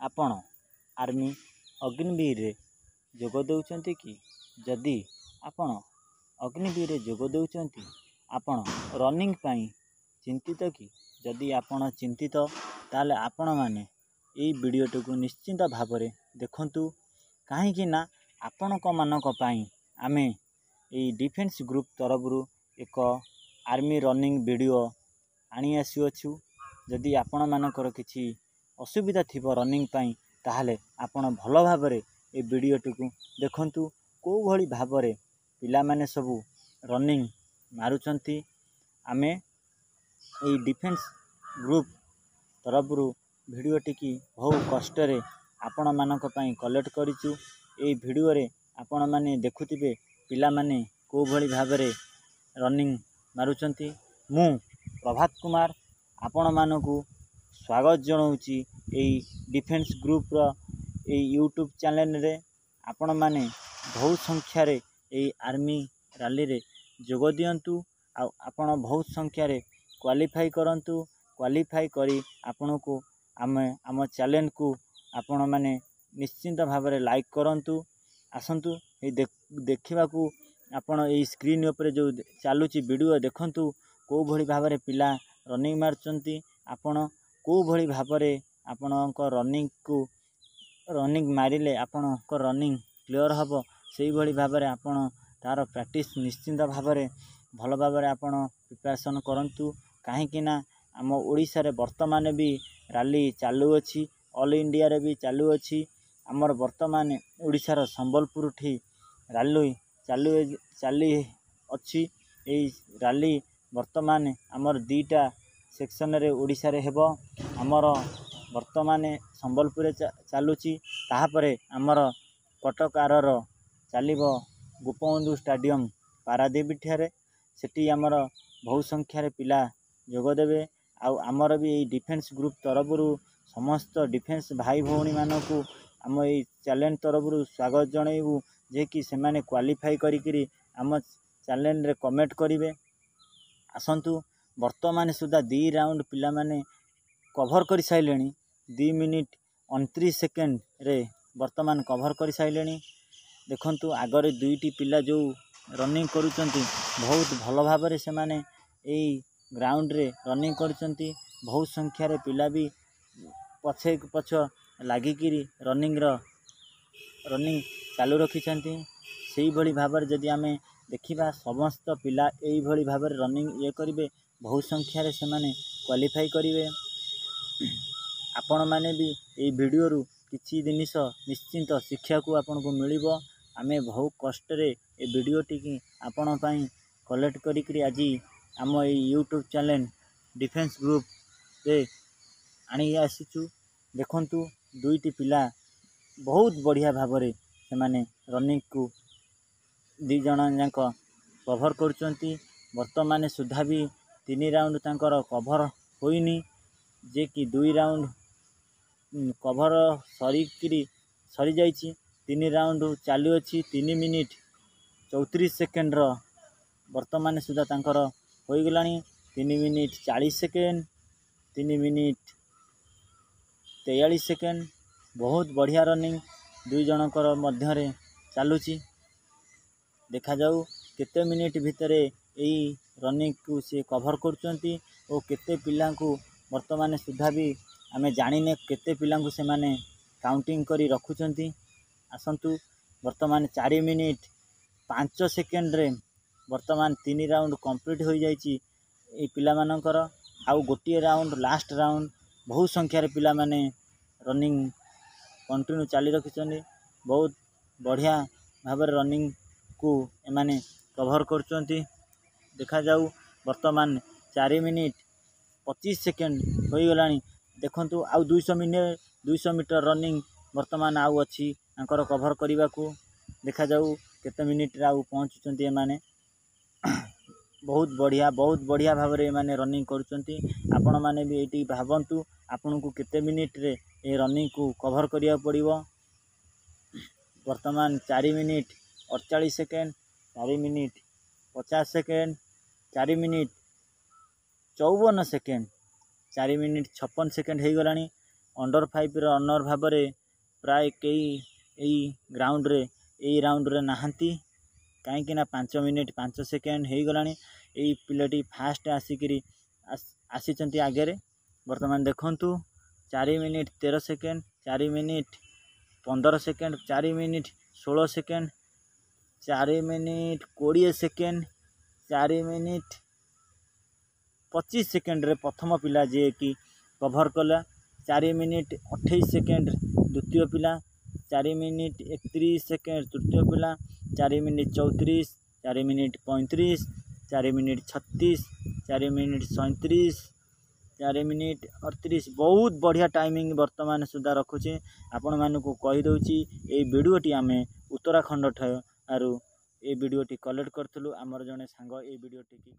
ଆପଣ ଆର୍ମି ଅଗ୍ନିବୀରରେ ଯୋଗ ଦେଉଛନ୍ତି କି? ଯଦି ଆପଣ ଅଗ୍ନିବୀରରେ ଯୋଗ ଦେଉଛନ୍ତି, ଆପଣ ରନିଂ ପାଇଁ ଚିନ୍ତିତ କି? ଯଦି ଆପଣ ଚିନ୍ତିତ, ତାହେଲେ ଆପଣମାନେ ଏଇ ଭିଡ଼ିଓଟିକୁ ନିଶ୍ଚିନ୍ତ ଭାବରେ ଦେଖନ୍ତୁ, କାହିଁକି ନା ଆପଣଙ୍କ ମାନଙ୍କ ପାଇଁ ଆମେ ଏଇ ଡିଫେନ୍ସ ଗ୍ରୁପ୍ ତରଫରୁ ଏକ ଆର୍ମି ରନିଂ ଭିଡ଼ିଓ ଆଣି ଆସୁଅଛୁ। ଯଦି ଆପଣମାନଙ୍କର କିଛି ଅସୁବିଧା ଥିବ ରନିଂ ପାଇଁ, ତାହେଲେ ଆପଣ ଭଲ ଭାବରେ ଏ ଭିଡ଼ିଓଟିକୁ ଦେଖନ୍ତୁ, କେଉଁଭଳି ଭାବରେ ପିଲାମାନେ ସବୁ ରନିଂ ମାରୁଛନ୍ତି। ଆମେ ଏଇ ଡିଫେନ୍ସ ଗ୍ରୁପ୍ ତରଫରୁ ଭିଡ଼ିଓଟିକି ବହୁ କଷ୍ଟରେ ଆପଣମାନଙ୍କ ପାଇଁ କଲେକ୍ଟ କରିଛୁ। ଏଇ ଭିଡ଼ିଓରେ ଆପଣମାନେ ଦେଖୁଥିବେ ପିଲାମାନେ କେଉଁଭଳି ଭାବରେ ରନିଂ ମାରୁଛନ୍ତି। ମୁଁ ପ୍ରଭାତ କୁମାର ଆପଣମାନଙ୍କୁ ସ୍ୱାଗତ ଜଣାଉଛି ଏଇ ଡିଫେନ୍ସ ଗ୍ରୁପ୍ର ଏଇ ୟୁଟ୍ୟୁବ୍ ଚ୍ୟାନେଲ୍ରେ। ଆପଣମାନେ ବହୁ ସଂଖ୍ୟାରେ ଏଇ ଆର୍ମି ରାଲିରେ ଯୋଗ ଦିଅନ୍ତୁ ଆଉ ଆପଣ ବହୁତ ସଂଖ୍ୟାରେ କ୍ୱାଲିଫାଇ କରନ୍ତୁ। କ୍ୱାଲିଫାଇ କରି ଆପଣଙ୍କୁ ଆମେ ଆମ ଚ୍ୟାନେଲ୍କୁ ଆପଣମାନେ ନିଶ୍ଚିନ୍ତ ଭାବରେ ଲାଇକ୍ କରନ୍ତୁ। ଆସନ୍ତୁ ଏଇ ଦେଖିବାକୁ, ଆପଣ ଏଇ ସ୍କ୍ରିନ୍ ଉପରେ ଯେଉଁ ଚାଲୁଛି ଭିଡ଼ିଓ ଦେଖନ୍ତୁ, କେଉଁଭଳି ଭାବରେ ପିଲା ରନିଂ ମାରୁଛନ୍ତି। ଆପଣ କେଉଁଭଳି ଭାବରେ ଆପଣଙ୍କ ରନିଂକୁ ରନିଂ ମାରିଲେ ଆପଣଙ୍କ ରନିଂ କ୍ଲିଅର୍ ହେବ, ସେଇଭଳି ଭାବରେ ଆପଣ ତା'ର ପ୍ରାକ୍ଟିସ୍ ନିଶ୍ଚିନ୍ତ ଭାବରେ ଭଲ ଭାବରେ ଆପଣ ପ୍ରିପାରେସନ୍ କରନ୍ତୁ, କାହିଁକି ନା ଆମ ଓଡ଼ିଶାରେ ବର୍ତ୍ତମାନ ବି ରାଲି ଚାଲୁଅଛି, ଅଲ୍ ଇଣ୍ଡିଆରେ ବି ଚାଲୁଅଛି। ଆମର ବର୍ତ୍ତମାନ ଓଡ଼ିଶାର ସମ୍ବଲପୁରଠି ରାଲି ଚାଲୁ ଚାଲି ଅଛି। ଏଇ ରାଲି ବର୍ତ୍ତମାନ ଆମର 2ଟା ସେକ୍ସନରେ ଓଡ଼ିଶାରେ ହେବ। ଆମର ବର୍ତ୍ତମାନ ସମ୍ବଲପୁରରେ ଚାଲୁଛି, ତାହାପରେ ଆମର କଟକ ଆରର ଚାଲିବ ଗୋପବନ୍ଧୁ ଷ୍ଟାଡ଼ିୟମ୍ ପାରାଦ୍ୱୀପ ଠାରେ। ସେଠି ଆମର ବହୁ ସଂଖ୍ୟାରେ ପିଲା ଯୋଗ ଦେବେ। ଆଉ ଆମର ବି ଏଇ ଡିଫେନ୍ସ ଗ୍ରୁପ୍ ତରଫରୁ ସମସ୍ତ ଡିଫେନ୍ସ ଭାଇ ଭଉଣୀମାନଙ୍କୁ ଆମ ଏଇ ଚ୍ୟାନେଲ୍ ତରଫରୁ ସ୍ୱାଗତ ଜଣାଇବୁ ଯେ କି ସେମାନେ କ୍ୱାଲିଫାଇ କରିକିରି ଆମ ଚ୍ୟାନେଲ୍ରେ କମେଣ୍ଟ କରିବେ। ଆସନ୍ତୁ, ବର୍ତ୍ତମାନ ସୁଦ୍ଧା 2 ରାଉଣ୍ଡ ପିଲାମାନେ କଭର୍ କରିସାରିଲେଣି। 2 ମିନିଟ୍ 29 ସେକେଣ୍ଡରେ ବର୍ତ୍ତମାନ କଭର୍ କରିସାରିଲେଣି। ଦେଖନ୍ତୁ, ଆଗରେ 2ଟି ପିଲା ଯେଉଁ ରନିଂ କରୁଛନ୍ତି, ବହୁତ ଭଲ ଭାବରେ ସେମାନେ ଏଇ ଗ୍ରାଉଣ୍ଡରେ ରନିଂ କରୁଛନ୍ତି। ବହୁତ ସଂଖ୍ୟାରେ ପିଲା ବି ପଛକୁ ପଛ ଲାଗିକିରି ରନିଂ ଚାଲୁ ରଖିଛନ୍ତି। ସେଇଭଳି ଭାବରେ ଯଦି ଆମେ ଦେଖିବା, ସମସ୍ତ ପିଲା ଏଇଭଳି ଭାବରେ ରନିଂ ଇଏ କରିବେ, ବହୁ ସଂଖ୍ୟାରେ ସେମାନେ କ୍ୱାଲିଫାଇ କରିବେ। ଆପଣମାନେ ବି ଏଇ ଭିଡ଼ିଓରୁ କିଛି ଜିନିଷ ନିଶ୍ଚିନ୍ତ ଶିଖିବାକୁ ଆପଣଙ୍କୁ ମିଳିବ। ଆମେ ବହୁ କଷ୍ଟରେ ଏ ଭିଡ଼ିଓଟିକି ଆପଣ ପାଇଁ କଲେକ୍ଟ କରିକିରି ଆଜି ଆମ ଏଇ ୟୁଟ୍ୟୁବ୍ ଚ୍ୟାନେଲ୍ ଡିଫେନ୍ସ ଗ୍ରୁପ୍ରେ ଆଣି ଆସିଛୁ। ଦେଖନ୍ତୁ, 2ଟି ପିଲା ବହୁତ ବଢ଼ିଆ ଭାବରେ ସେମାନେ ରନିଂକୁ 2 ଜଣ ଯାକ କଭର୍ କରୁଛନ୍ତି। ବର୍ତ୍ତମାନ ସୁଦ୍ଧା ବି 3 ରାଉଣ୍ଡ ତାଙ୍କର କଭର୍ ହୋଇନି, ଯେ କି 2 ରାଉଣ୍ଡ କଭର୍ ସରିକିରି ସରିଯାଇଛି, 3 ରାଉଣ୍ଡ ଚାଲୁଅଛି। 3 ମିନିଟ୍ 34 ସେକେଣ୍ଡର ବର୍ତ୍ତମାନ ସୁଦ୍ଧା ତାଙ୍କର ହୋଇଗଲାଣି। 3 ମିନିଟ୍ 40 ସେକେଣ୍ଡ, 3 ମିନିଟ୍ 43 ସେକେଣ୍ଡ। ବହୁତ ବଢ଼ିଆ ରନିଂ 2 ଜଣଙ୍କର ମଧ୍ୟରେ ଚାଲୁଛି। ଦେଖାଯାଉ କେତେ ମିନିଟ୍ ଭିତରେ ଏଇ ରନିଂକୁ ସିଏ କଭର୍ କରୁଛନ୍ତି ଓ କେତେ ପିଲାଙ୍କୁ ବର୍ତ୍ତମାନ ସୁଦ୍ଧା ବି ଆମେ ଜାଣିନେ କେତେ ପିଲାଙ୍କୁ ସେମାନେ କାଉଣ୍ଟିଂ କରି ରଖୁଛନ୍ତି। ଆସନ୍ତୁ, ବର୍ତ୍ତମାନ 4 ମିନିଟ୍ 5 ସେକେଣ୍ଡରେ ବର୍ତ୍ତମାନ 3 ରାଉଣ୍ଡ କମ୍ପ୍ଲିଟ୍ ହୋଇଯାଇଛି ଏଇ ପିଲାମାନଙ୍କର। ଆଉ ଗୋଟିଏ ରାଉଣ୍ଡ, ଲାଷ୍ଟ ରାଉଣ୍ଡ। ବହୁ ସଂଖ୍ୟାରେ ପିଲାମାନେ ରନିଂ କଣ୍ଟିନ୍ୟୁ ଚାଲି ରଖିଛନ୍ତି। ବହୁତ ବଢ଼ିଆ ଭାବରେ ରନିଂକୁ ଏମାନେ କଭର୍ କରୁଛନ୍ତି। ଦେଖାଯାଉ, ବର୍ତ୍ତମାନ 4 ମିନିଟ୍ 25 ସେକେଣ୍ଡ ହୋଇଗଲାଣି। ଦେଖନ୍ତୁ, ଆଉ 200 ମିନିଟ୍, 200 ମିଟର ରନିଂ ବର୍ତ୍ତମାନ ଆଉ ଅଛି ତାଙ୍କର କଭର୍ କରିବାକୁ। ଦେଖାଯାଉ କେତେ ମିନିଟ୍ରେ ଆଉ ପହଞ୍ଚୁଛନ୍ତି ଏମାନେ। ବହୁତ ବଢ଼ିଆ, ବହୁତ ବଢ଼ିଆ ଭାବରେ ଏମାନେ ରନିଂ କରୁଛନ୍ତି। ଆପଣମାନେ ବି ଏଇଠି ଭାବନ୍ତୁ, ଆପଣଙ୍କୁ କେତେ ମିନିଟ୍ରେ ଏ ରନିଂକୁ କଭର୍ କରିବାକୁ ପଡ଼ିବ। ବର୍ତ୍ତମାନ 4 minute 48 second, 4 minute 50 second, 4 minute 54 second, 4 minute 56 second ହେଇଗଲାଣି। ଅଣ୍ଡର 5 ରନର୍ ଭାବରେ ପ୍ରାୟ କେହି ଏଇ ଗ୍ରାଉଣ୍ଡରେ, ଏଇ ରାଉଣ୍ଡରେ ନାହାନ୍ତି, କାହିଁକିନା 5 ମିନିଟ୍ 5 ସେକେଣ୍ଡ ହେଇଗଲାଣି। ଏଇ ପିଲାଟି ଫାଷ୍ଟ ଆସିକିରି ଆସିଛନ୍ତି ଆଗରେ। ବର୍ତ୍ତମାନ ଦେଖନ୍ତୁ, 4 minute 13 second, 4 minute 15 second, 4 minute 16 second, 4 minute 20 second, 4 minute 25 ସେକେଣ୍ଡରେ ପ୍ରଥମ ପିଲା ଯିଏକି କଭର୍ କଲା। 4 ମିନିଟ୍ 28 ସେକେଣ୍ଡ ଦ୍ୱିତୀୟ ପିଲା, 4 ମିନିଟ୍ 31 ସେକେଣ୍ଡ ତୃତୀୟ ପିଲା, 4 minute 34, 4 minute 35, 4 minute 36, 4 minute 37, 4 minute 38। ବହୁତ ବଢ଼ିଆ ଟାଇମିଂ ବର୍ତ୍ତମାନ ସୁଦ୍ଧା ରଖୁଛି। ଆପଣମାନଙ୍କୁ କହିଦେଉଛି, ଏଇ ଭିଡ଼ିଓଟି ଆମେ ଉତ୍ତରାଖଣ୍ଡ ଠାରୁ ଏଇ ଭିଡ଼ିଓଟି କଲେକ୍ଟ କରିଥିଲୁ। ଆମର ଜଣେ ସାଙ୍ଗ ଏଇ ଭିଡ଼ିଓଟିକି